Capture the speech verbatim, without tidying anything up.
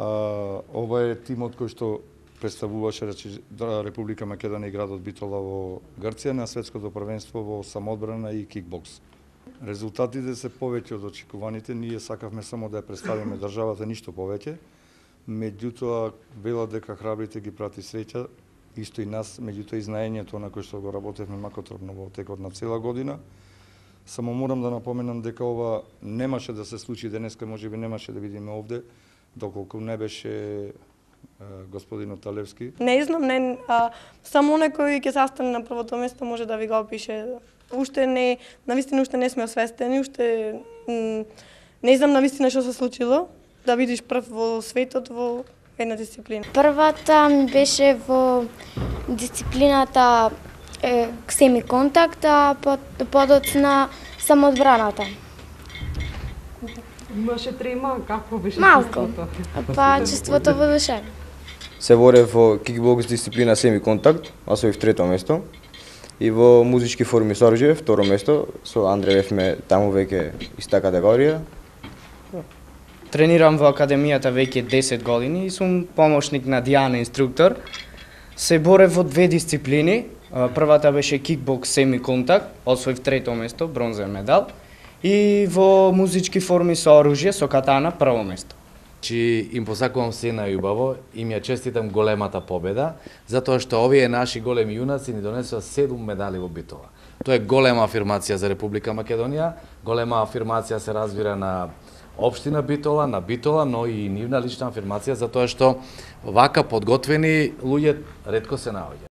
А, ова е тимот кој што представуваше Република Македонија и градот Битола во Грција на светското првенство во самоодбрана и кикбокс. Резултатите се повеќе од очекуваните, ние сакавме само да ја представиме државата, ништо повеќе. Меѓутоа, велат дека храбрите ги прати среќа, исто и нас, меѓутоа и знаењето на кој што го работевме макотропно во текот на цела година. Само морам да напоменам дека ова немаше да се случи денеска, можеби немаше да видиме овде, доколку не беше господинот Талевски. Не знам, не, а, само некој ќе застане на првото место може да ви го опише. Уште не, навистина уште не сме освестени, уште м, не знам навистина што се случило, да видиш прв во светот во една дисциплина. Првата ми беше во дисциплината е, семиконтакт, а под, подоцна самоодбраната. Имаше трема, какво беше Малко. чувството? Па чувството воодушевено. Се борев во кикбокс дисциплина семиконтакт, освоив трето место. И во музички форми со оружје, второ место, со Андре бевме таму веќе иста категорија. Тренирам во академијата веќе десет години и сум помошник на Дијана, инструктор. Се борев во две дисциплини. Првата беше кикбокс семиконтакт, освоив трето место, бронзен медал. И во музички форми со оружје, со катана, прво место. Чи им посакувам се најубаво, им ја честитам големата победа, затоа што овие наши големи јунаци ни донесоа седум медали во Битола. Тоа е голема афирмација за Република Македонија, голема афирмација се разбира на општина Битола, на Битола, но и нивна лична афирмација, затоа што вака подготвени луѓе ретко се наоѓаат.